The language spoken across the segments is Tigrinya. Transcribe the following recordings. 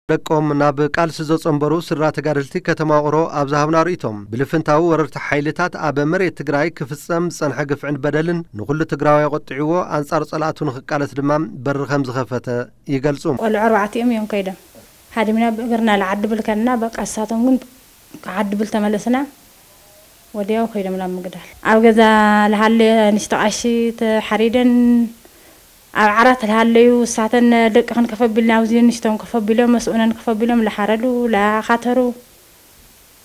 ደቆም ናብ ቃልሲ ዘጸንበሩ ስድራ ተጋደልቲ ከተማ ውቕሮ ኣብ ዝሃብና ርእይቶም፣ ብልፍንታዊ ወረርቲ ሓይልታት ኣብ መሬት ትግራይ ክፍጸም ዝጸንሐ ግፍዕን በደልን ንኹሉ ትግራዋይ ኣቖጢዕዎ፣ ኣንጻር ጸላእቱ ንኽቃለስ ድማ በሪ ከም ዝኸፈተ ይገልጹ። ቆልዑ ኣርባዕቲኦም እዮም ከይዶም። ሃዲምና ብእግርና ልዓዲ ብል ከለና፣ በቃ፣ ንሳቶም ግን ክዓዲ ብል ተመለስና። ወዲያው ከይዶም ናብ ምግዳል። ኣብ ገዛ ልሃለየ ንሽቶ ቃሺ ተሓሪደን፣ ኣብ ዓራት ልሃለዩ፣ እሳተን ደቅኽን ከፈቢልና፣ ኣብዚ ንሽቶም ከፈቢሎም፣ መስኡነን ከፈቢሎም፣ ልሓረዱ፣ ላኻተሩ፣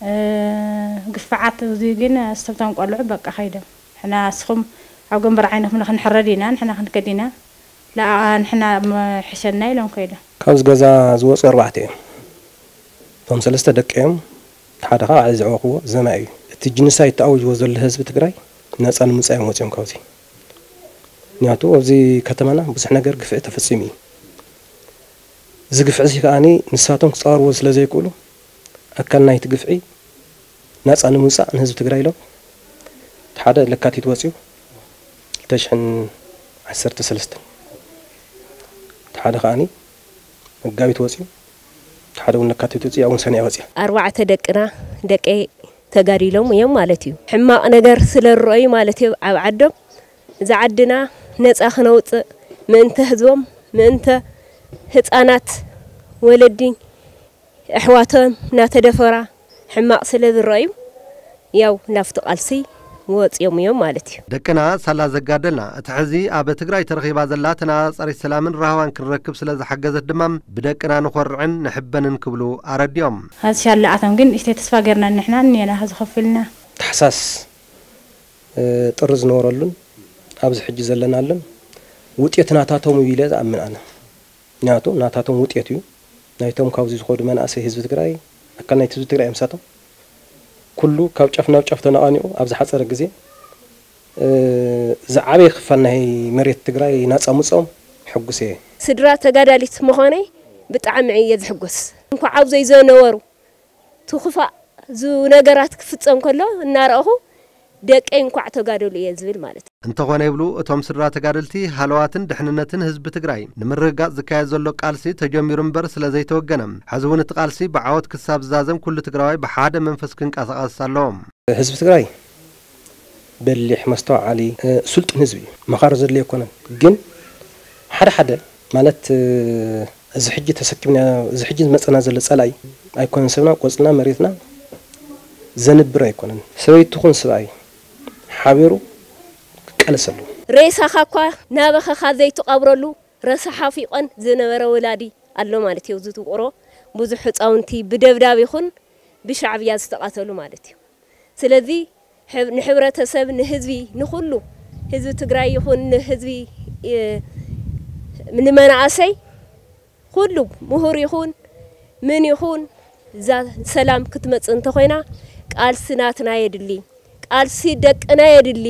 እ፣ ግፍዓት፣ እዚ ግን፣ እስተብቶም ቆልዑ በቃ ከይዶም። ንሕና፣ እስኹም ኣብ ገንበር ዓይንኹም ንኽንሕረድ ኢና፣ ንሕና ክንከድ ኢና፣ ለኣ ንሕና መ-፣ ሕሸና ኢሎም ከይዶም። ካብዚ ገዛ ዝወፁ ኣርባዕተ እዮም። እቶም ሰለስተ ደቂ እዮም። እቲ ሓደ ከዓ ባዕለይ ዘዕበኽዎ ዘማይ እዩ። እቲ ጂኖሳይድ ተኣዊጅዎ ዘሎ ህዝቢ ትግራይ ነፃ ንምውፃእ እዮም ወፂኦም ካብዚ። ምክንያቱ ኣብዚ ከተማና ብዙሕ ነገር ግፍዒ ተፈፂሙ እዩ። እዚ ግፍዒ እዚ ከዓኒ ንሳቶም ክፃወርዎ ስለ ዘይክእሉ፣ ኣካል ናይቲ ግፍዒ ናፃ ንምውፃእ ንህዝቢ ትግራይ ኢሎም፣ እቲ ሓደ ለካቲት ወፂኡ፣ ክልተ ሽሕን ዓሰርተ ሰለስተን፣ እቲ ሓደ ከዓኒ መጋቢት ወፂኡ፣ እቲ ሓደ እውን ለካቲት ወፂኡ፣ እውን ሰነ ወፂኡ። ኣርባዕተ ደቅና፣ ደቀይ ተጋዲሎም እዮም ማለት እዩ። ሕማቕ ነገር ስለ ዝረኣዩ ማለት እዩ ኣብ ዓዶም፣ እዚ ዓድና ነፃ ክነውፅእ፣ ምእንተ ህዝቦም፣ ምእንተ ህፃናት፣ ወለዲ ኣሕዋቶም እናተደፈራ ሕማቕ ስለ ዝረኣዩ፣ ያው ናብቲ ቃልሲ ወፂኦም እዮም ማለት እዩ። ደቅና ሳላ ዘጋደልና፣ እቲ ሕዚ ኣብ ትግራይ ተረኺባ ዘላ ተነፃፃሪት ሰላምን ራህዋን ክንረክብ ስለ ዝሓገዘት ድማ፣ ብደቅና ንኾርዕን ንሕበንን ክብሉ ኣረዲኦም። ሀዚ ሻለኣቶም ግን እሽተይ ተስፋ ገርና ንሕና እኒና ሀዚ ከፊልና። ታሕሳስ፣ እ፣ ጥሪ ዝነበረሉን ኣብዚ ሕጂ ዘለናሉን ውጤት ናታቶም እዩ ኢለ ዝኣምን ኣነ። ምክንያቱ ናታቶም ውጤት እዩ። ናይቶም ካብዚ ዝኸዱ መናእሰይ ህዝቢ ትግራይ፣ ኣካል ናይቲ ህዝቢ ትግራይ እዮም ንሳቶም። ኩሉ ካብ ጫፍ ናብ ጫፍ ተነቓኒቑ ኣብ ዝሓፀረ ግዜ፣ እ፣ ዝዓበየ ክፋል ናይ መሬት ትግራይ ናፃ ምፅኦም ሕጉስ እየ። ስድራ ተጋዳሊት ምዃነይ ብጣዕሚ እየ ዝሕጎስ። እንኳዕ ኣብዘይ ዘነበሩ፣ እቲ ክፋእ ዙ ነገራት ክፍጸም ከሎ እናረኣኹ፣ ደቀይ እንኳዕ ተጋደሉ እየ ዝብል ማለት እዩ። እንተኾነ ይብሉ እቶም ስድራ ተጋደልቲ፣ ሃለዋትን ድሕንነትን ህዝቢ ትግራይ ንምርግጋጽ ዝካየድ ዘሎ ቃልሲ ተጀሚሩ እምበር ስለ ዘይተወገነ፣ ሕዚ እውን እቲ ቃልሲ ብዓወት ክሳብ ዝዛዘም ኩሉ ትግራዋይ ብሓደ መንፈስ ክንቀሳቐስ ኣለዎ። ህዝቢ ትግራይ በሊሕ፣ መስተውዓሊ፣ እ፣ ስልጡን ህዝቢ እዩ። መኻሪ ዘድልዮ ኣይኮነን። ግን ሓደ ሓደ ማለት፣ እ፣ እዚ ሕጂ ተሰኪምና፣ እዚ ሕጂ ዝመጸና ዘሎ ጸላኢ ኣይኮነን፣ ሰብና፣ ቆጽልና፣ መሬትና ዘንብር ኣይኮነን። ሰበይቲ ትኹን ሰብኣይ ሓቢሩ ክቃለስ ኣለዎ። ሬሳኻ እኳ ናበኸኻ ዘይትቐብረሉ ረሳሓ ፊቆን ዝነበረ ወላዲ ኣሎ ማለት እዩ። እዚ ውቅሮ ብዙሕ ህፃውንቲ ብደብዳብ ይኹን ብሻዕብያ ዝተቓተሉ ማለት እዩ። ስለዚ፣ ንሕብረተሰብ፣ ንህዝቢ፣ ንኹሉ ህዝቢ ትግራይ ይኹን ንህዝቢ፣ እ፣ ንመናእሰይ፣ ኩሉ ምሁር ይኹን ምን ይኹን፣ እዛ ሰላም ክትመጽእ እንተኾይና፣ ቃልሲ ናትና የድሊ፣ ቃልሲ ደቅና የድሊ።